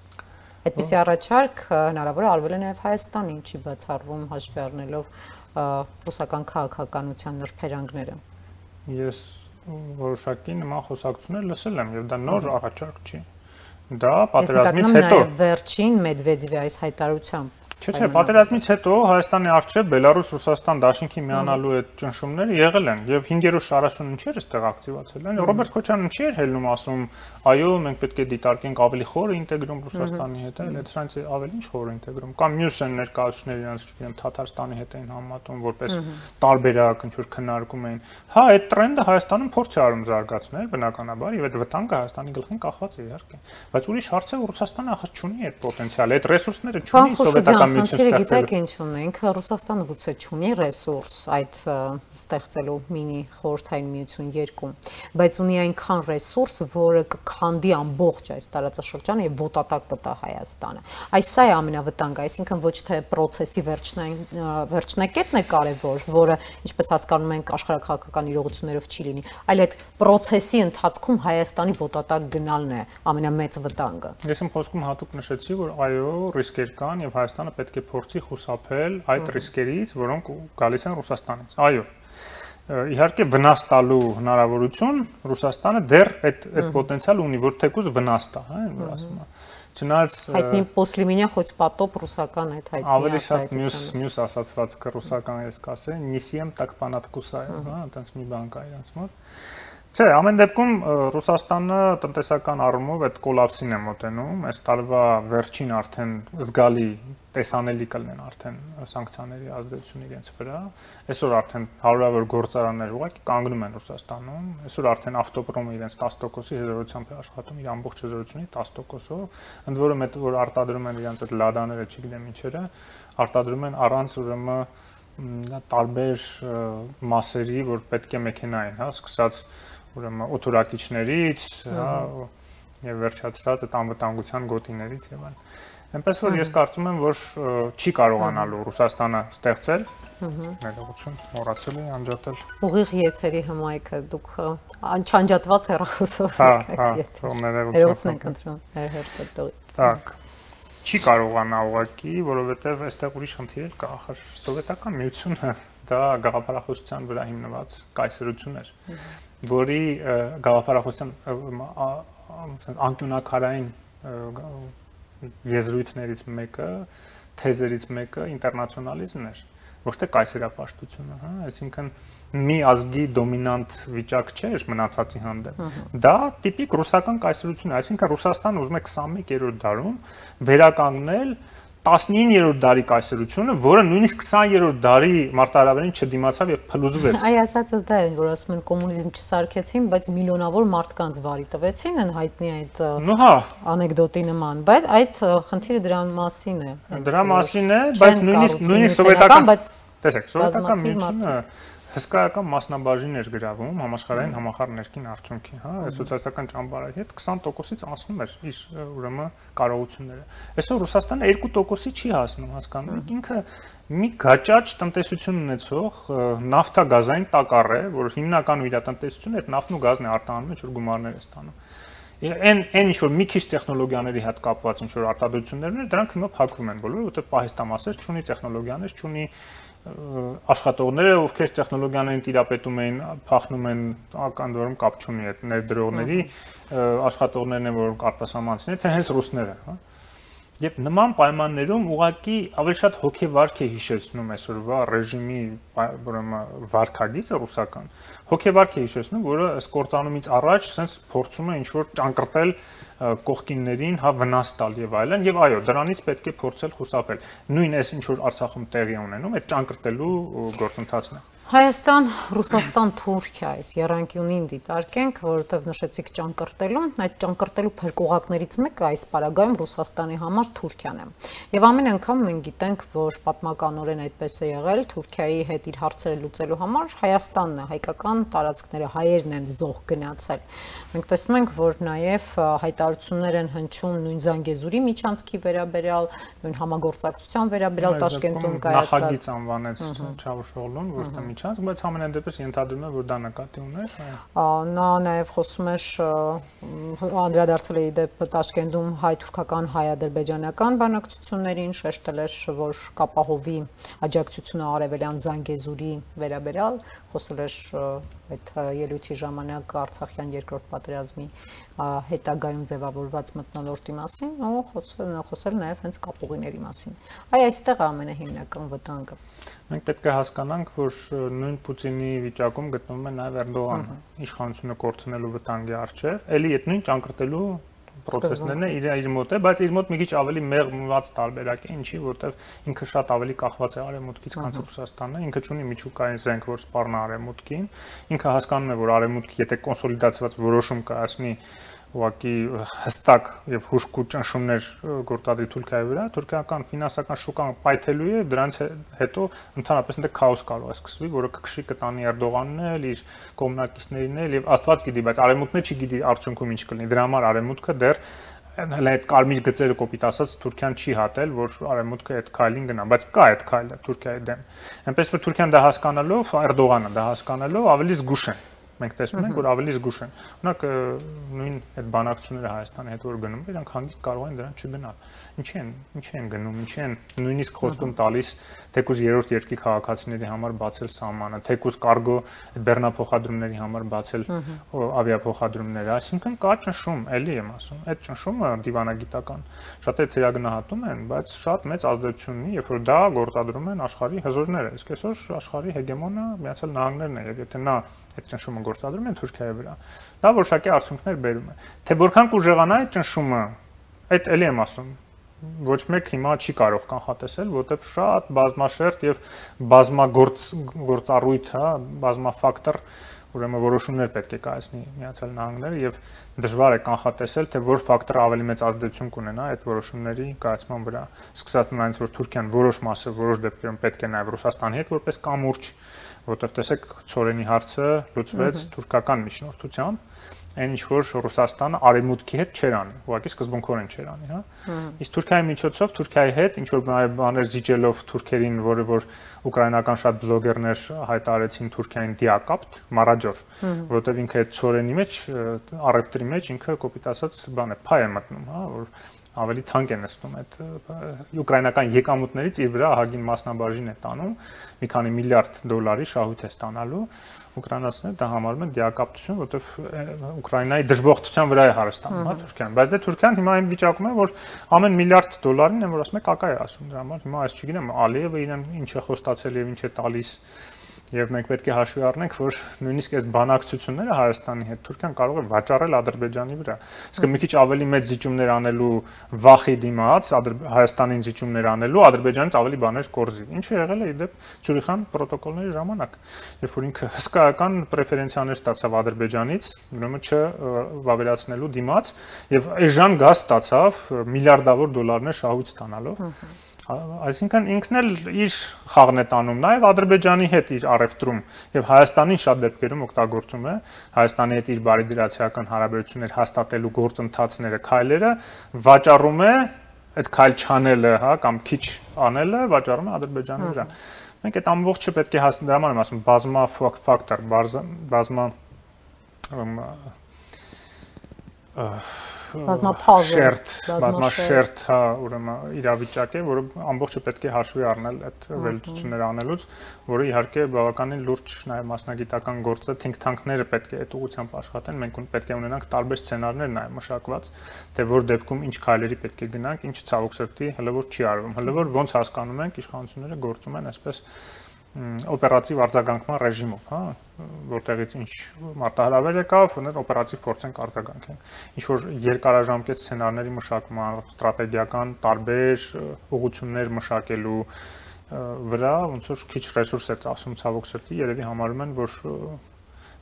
Այդպիսի առաջարկ հնարավոր է արվել է նաև Հայաստանի, ինչի բացառվում հաշվի առնելով ռուսական քաղաքականության նրբերանգները։ Ես որոշակի նման խոսակցություններ լսել եմ եւ դա նոր առաջարկ չի։ Դա պատերազմից հետո վերջին Մեդվեդևի այս հայտարարությամբ Չէ, պատերազմից հետո Հայաստանի արչեւ Բելարուս-Ռուսաստան դաշինքի միանալու այդ ճնշումները եղել են եւ 5-րդ շարաշուն ինչեր էստեղ ակտիվացել են։ Ռոբերտ Քոչարյանը չի ելնում ասում, այո, մենք պետք է դիտարկենք ավելի խորը ինտեգրում Ռուսաստանի հետ, այլ դրանից ավելի ինչ խորը ինտեգրում։ Կամ մյուս են ներկայացուցիչները իրանց չգիտեմ Թաթարստանի հետ էին համատում որպես տարբերակ ինչ որ քննարկում էին։ Հա, այդ տրենդը Հայաստանում փորձ է արում զարգացնել բնականաբար եւ այդ վտանգը Հայաստանի գլխին կախված է իհարկե։ Բայց ուրիշ հարց է որ Ռուսաստանը ախր չունի այդ պոտենցիալը, այդ ռեսուրսները չունի սովետական Խնդիրը գիտեք ինչ ունենք, Ռուսաստանը գուցե չունի ռեսուրս այդ ստեղծելու մինի խորհրդային միություն 2, բայց ունի այնքան ռեսուրս, որը կքանդի ամբողջ այս տարածաշրջանը եւ ոտատակ կտա Հայաստանը։ Այս սա է ամենավտանգը, այսինքն ոչ թե process-ի վերջնակետն է կարևոր, որը ինչպես հասկանում ենք աշխարհաքաղաքական իրողություններով չի լինի, այլ այդ process-ի ընթացքում Հայաստանի ոտատակ գնալն է ամենամեծ վտանգը։ Ես իմ խոսքում հատուկ նշեցի, որ այո, ռիսկեր կան եւ Հայաստանը պետք է փորձի խուսափել այդ ռիսկերից, որոնք գալիս են Ռուսաստանից։ Այո։ Իհարկե վնաս տալու հնարավորություն Ռուսաստանը դեռ այդ պոտենցիալ ունի, որ թեկուզ վնաս տա, հա, որ ասում եմ։ Չնայած հայտնի после меня хоть потоп ռուսական այդ հայտնի է։ Ավելի շատ մյուս ասացվածքը ռուսական ես կասեի, նիսիեմ так понадкусаю, հա, այնպես մի բան կա իրանց մոտ։ Չէ, ամեն դեպքում Ռուսաստանը տնտեսական առումով այդ կոլապսին է մոտենում, այս տարվա վերջին արդեն զգալի տեսանելի կլինեն արդեն սանկցիաների ազդեցությունը իրենց վրա։ Այսօր արդեն հարյուրավոր գործարաններ ուղղակի կանգնում են Ռուսաստանում։ Այսօր արդեն ավտոպրոմը իրենց 10%-ի հզորությամբ է աշխատում, իր ամբողջ հզորությունի 10%-ով, ընդ որում այդ որ արտադրում են իրենց այդ լադաները, չգիտեմ ինչերը, արտադրում են առանց ուրեմն տարբեր մասերի, որ պետք է մեքենային, հա, սկսած ուրեմն օթորակիչներից, հա, եւ վերջացրած այդ անվտանգության գոտիներից եւ այլն։ Այնպես որ ես կարծում եմ, որ չի կարողանալու Ռուսաստանը ստեղծել, ներողություն, մոռացել էի անջատել։ Ուղիղ եթերի հմայքը դուք չանջատված հեռախոսով եք եթեր։ Ներողություն ենք ընտրում հերթստողի։ Так, չի կարողանա ուղղակի, որովհետեւ այստեղ ուրիշ խնդիր էլ կա, ախր սովետական միությունը դա գաղափարախոսության վրա հիմնված կայսրություն էր, որի գաղափարախոսության անկյունակարային եզրույթներից մեկը, թեզերից մեկը ինտերնացիոնալիզմն էր, ոչ թե կայսերապաշտությունը, հա, այսինքն մի ազգի դոմինանտ վիճակ չէր մնացածի հանդեպ։ Դա տիպիկ ռուսական կայսրություն է, այսինքն Ռուսաստանը ուզում է 21-րդ դարում վերականգնել 19-րդ դարի կայսրությունը, որը նույնիսկ 20-րդ դարի մարտահրավերին չդիմացավ եւ փլուզվեց։ Այ ասածս դա է, որ ասում են կոմունիզմ չսարքեցին, բայց միլիոնավոր մարդկանց վարի տվեցին, են հայտնի այդ անեկդոտի նման, բայց այդ խնդիրը դրա մասին է։ Դրա մասին է, բայց նույնիսկ սովետական, տեսեք, սովետական միությունը հսկայական մասնաբաժին էր գրավում համաշխարհային համախառն ներքին արդյունքի, հա, սոցիալիստական ճամբարի հետ 20%-ից անցնում էր իր ուրեմն կարողությունները։ Այսօր Ռուսաստանը 2%-ի չի հասնում, հասկանում եք, ինքը մի գաճաճ տնտեսություն ունեցող նավթագազային տակառ է, որ հիմնականում իր տնտեսությունը այդ նավթն ու գազն է արտահանում, ինչ որ գումարներ է ստանում։ Այն ինչ որ մի քիչ տեխնոլոգիաների հետ կապված ինչ որ արտադրություններն են, դրանք հիմա փակվում են բոլորը, որովհետև պահեստամասեր չունի տեխնոլոգիաներ, չունի աշխատողները, ովքեր տեխնոլոգիաներին տիրապետում էին, փախնում են, ականդորում կապ չունի այդ ներդրողների աշխատողներն են, որ արտասահմանցիներ, թե հենց ռուսները, հա։ Եվ նման պայմաններում ուղղակի ավելի շատ հոգեվարք է հիշեցնում այսօրվա ռեժիմի ուրեմն վարքագիծը ռուսական։ Հոգեվարք է հիշեցնում, որը ըստ կործանումից առաջ sense փորձում է ինչ-որ ճանկրտել կողքիններին, հա, վնաս տալ եւ այլն, եւ այո, դրանից պետք է փորձել խուսափել։ Նույն էս ինչ որ Արցախում տեղի ունենում, այդ ճանկրտելու գործընթացն է։ Հայաստան, Ռուսաստան, Թուրքիա այս երանգյունին դիտարկենք, որովհետև նշեցիք ճանկրտելում, այդ ճանկրտելու փրկողակներից մեկը այս պարագայում Ռուսաստանի համար Թուրքիան է։ Եվ ամեն անգամ մենք գիտենք, որ պատմականորեն այդպես է եղել, Թուրքիայի հետ իր հարցերը լուծելու համար Հայաստանն է, հայկական տարածքները, հայերն են զոհ գնացել։ Մենք տեսնում ենք, որ նաև հայտարարություններ են հնչում նույն Զանգեզուրի միջանցքի վերաբերյալ, նույն համագործակցության վերաբերյալ Տաշկենտում կայացած։ Նախագիծ անվանեց Չավուշօղլուն, որտեղ միջանցք, բայց ամենայն դեպս ենթադրում եմ, որ դա նկատի ուներ։ Նա նաև խոսում էր անդրադարձել է դեպ Տաշկենտում հայ-թուրքական հայ-ադրբեջանական բանակցություններին, շեշտել էր, որ կապահովի աջակցությունը արևելյան Զանգեզուրի վերաբերյալ, խոսել էր այդ ելույթի ժամանակ Արցախյան երկրորդ պատերազմի հետագայում ձևավորված մթնոլորտի մասին, ու խոսել նաև հենց կապուղիների մասին։ Այստեղ է ամենահիմնական վտանգը։ Մենք պետք է հասկանանք, որ նույն Պուտինի վիճակում գտնվում է նաև Էրդողանը, իշխանությունը կորցնելու վտանգի առջև, էլի այդ նույն ճանկրտելու process-ներն է իր մոտ է, բայց իր մոտ մի քիչ ավելի մեղմված տարբերակ է, ինչի, որտեվ ինքը շատ ավելի կախված է արևմուտքից, քան Ռուսաստանն է, ինքը ունի միջուկային զենք, որ սպառնա արևմուտքին, ինքը հասկանում է, որ արևմուտքը եթե կոնսոլիդացված որոշում կայացնի ուղղակի հստակ եւ հուժկու ճնշումներ գործադրի Թուրքիայի վրա, թուրքական ֆինանսական շուկան պայթելու է, դրանից հետո ընդհանրապես այնտեղ քաոս կարող է սկսվի, որը կքշի կտանի Էրդողանն էլ, իր կողմնակիցներին էլ եւ Աստված գիտի, բայց արևմուտքն չի գիտի արդյունքում ինչ կլինի։ Դրա համար արևմուտքը դեռ հələ այդ կարմիր գծերը կոպիտ ասած Թուրքիան չի հատել, որ արևմուտքը այդ քայլին գնա, բայց կա այդ քայլը Թուրքիայի դեմ։ Այնպես որ Թուրքիան դա հասկանալով, Էրդողանը դա հասկանալով ավելի զգուշ է։ Մենք տեսնում ենք, որ ավելի զգուշ են։ Օրինակ նույն այդ բանակցությունները Հայաստանի հետ որ գնում, իրանք հանգիստ կարող են դրան չգնալ։ Ինչի են գնում, ինչի են նույնիսկ խոստում տալիս թեկուզ երրորդ երկրի քաղաքացիների համար բացել սահմանը, թեկուզ կարգո բեռնափոխադրումների համար բացել ավիափոխադրումները, այսինքն կա ճնշում, էլի եմ ասում, այդ ճնշումը դիվանագիտական շատ է թերագնահատում են, բայց շատ մեծ ազդեցություն ունի, երբ որ դա գործադրում են աշխարհի հզորները, իսկ այսօր աշխարհի հեգեմոնը Միացյալ Նահանգներն է, եւ եթե նա այդ ճնշումը գործադրում են Թուրքիայի վրա, դա որոշակի արդյունքներ բերում է։ Թե որքան կուժեղանա այդ ճնշումը, այդ էլի եմ ասում, ոչ մեկ հիմա չի կարող կանխատեսել, որովհետև շատ բազմաշերտ եւ բազմագործառույթ, բազմաֆակտոր, ուրեմն որոշումներ պետք է կայացնի Միացյալ Նահանգները եւ դժվար է կանխատեսել, թե որ ֆակտորը ավելի մեծ ազդեցություն կունենա այդ որոշումների կայացման վրա։ Սկսած նրանից, որ Թուրքիան որոշ մասը որոշ դեպքերում պետք է նաեւ Ռուսաստանի հետ որպես կամուրջ, որովհետև տեսեք ծորենի հարցը լուծվեց թուրքական միջնորդությամբ, այն ինչ որ Ռուսաստանը արևմուտքի հետ չէր անի, ուղղակի սկզբունքորեն չէր անի, հա։ Իսկ Թուրքիայի միջոցով Թուրքիայի հետ ինչ որ բաներ զիջելով թուրքերին, որը որ ուկրաինական շատ բլոգերներ հայտարարեցին Թուրքիային դիակապտ, մարաջոր, որովհետև ինքը այդ ծորենի մեջ, առևտրի մեջ ինքը կոպիտ ասած բան է, փայ է մտնում, հա, որ ավելի թանկ է նստում այդ ուկրաինական եկամուտներից իր վրա ահագին մասնաբաժին է տանում, մի քանի միլիարդ դոլարի շահույթ է ստանալու, ուկրաինացիները դա համարում են դիակապտություն, որովհետև Ուկրաինայի դժբախտության վրա է հարստանում, հա, Թուրքիան, բայց դե Թուրքիան հիմա այն վիճակում է, որ ամեն միլիարդ դոլարին են, որ ասում է կակա է ասում դրա համար, հիմա այս չգիտեմ, Ալիևը իրեն ինչ է խոստացել եւ ինչ է տալիս Եվ մենք պետք է հաշվի առնենք, որ նույնիսկ այս բանակցությունները Հայաստանի հետ Թուրքիան կարող է վաճառել Ադրբեջանի վրա։ Իսկ մի քիչ ավելի մեծ զիջումներ անելու վախի դիմաց, Հայաստանին զիջումներ անելու Ադրբեջանից ավելի բաներ կորզի։ Ինչը եղել է իդեպ Ցյուրիխյան պրոտոկոլների ժամանակ, երբ որ ինքը հսկայական պրեֆերենցիաներ ստացավ Ադրբեջանից, ուրեմն չվավերացնելու դիմաց, եւ այժմ գազ ստացավ միլիարդավոր դոլարներ շահույթ ստանալով։ Այսինքն ինքն էլ իր խաղն է տանում, նաև Ադրբեջանի հետ իր առևտրում եւ Հայաստանին շատ դեպքերում օգտագործում է Հայաստանի հետ իր բարիդրացիական հարաբերություններ հաստատելու գործընթացները, քայլերը վաճառում է այդ քայլ չանելը, հա, կամ քիչ անելը վաճառում է Ադրբեջանի վրա։ Մենք այդ ամբողջը պետք է հասկանալ, դրա համար եմ ասում, բազմա ֆակտոր, բազմաշերտ, հա, ուրեմն իրավիճակ է, որը ամբողջը պետք է հաշվի առնել այդ վերլուծությունները անելուց, որը իհարկե բավականին լուրջ նաև մասնագիտական գործ է, think tank-ները պետք է այդ ուղղությամբ աշխատեն, մենք պետք է ունենանք տարբեր սցենարներ նաև մշակված, թե որ դեպքում ինչ քայլերի պետք է գնանք, ինչ ցավոք սրտի հələ որ չի արվում, հələ որ ոնց հասկանում ենք իշխանությունները գործում են այսպես օպերատիվ արձագանքման ռեժիմով, հա, որտեղից ինչ մարտահրավեր եկավ, օպերատիվ փորձենք արձագանքենք։ Ինչ որ երկարաժամկետ սցենարների մշակման, ստրատեգիական տարբեր ուղղություններ մշակելու վրա ոնց որ քիչ ռեսուրս է ծախսում ցավոք սրտի, երևի համարում են, որ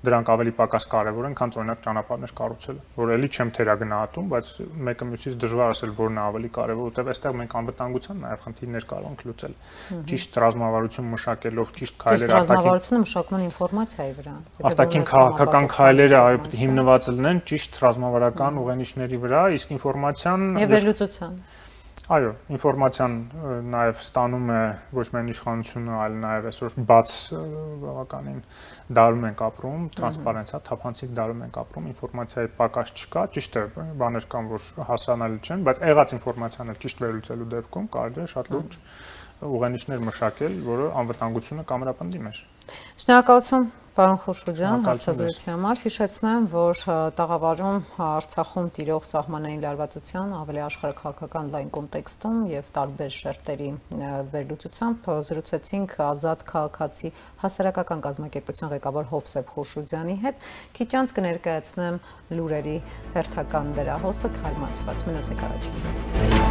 դրանք ավելի պակաս կարևոր են, քան օրինակ ճանապարհներ կառուցելը, որ էլի չեմ թերագնահատում, բայց մեկը մյուսից դժվար ասել որն է ավելի կարևոր, որովհետև այստեղ մենք անվտանգության նաև խնդիրներ կարող ենք լուծել։ Ճիշտ ռազմավարություն մշակելով, ճիշտ քայլեր ռազմավարությունը մշակման ինֆորմացիայի վրա։ Արտաքին քաղաքական քայլերը հիմնված լինեն ճիշտ ռազմավարական ուղենիշների վրա, իսկ ինֆորմացիան եւ վերլուծության։ Այո, ինֆորմացիան նաև ստանում է ոչ միայն իշխանությունը, այլ նաև այսօր բաց բավականին դարում ենք ապրում, տրանսպարենցիա, թափանցիկ դարում ենք ապրում, ինֆորմացիայի պակաս չկա, ճիշտ է, բաներ կան, որ հասանելի չեն, բայց եղած ինֆորմացիան էլ ճիշտ վերլուծելու դեպքում կարելի է շատ լուրջ ուղենիշներ մշակել, որը անվտանգությունը կամրապնդի մեր։ Շնորհակալություն, պարոն Խուշուձյան, հարցազրույցի համար։ Հիշեցնեմ, որ տաղավարում Արցախում տիրող սահմանային լարվածության ավելի աշխարհաքաղաքական լայն կոնտեքստում եւ տարբեր շերտերի վերլուծությամբ զրուցեցինք Ազատ քաղաքացի հասարակական կազմակերպության ղեկավար Հովսեփ Խուշուձյանի հետ։ Քիչ անց կներկայացնեմ լուրերի հերթական վերահոսը թարմացված։ Մնացեք առաջին։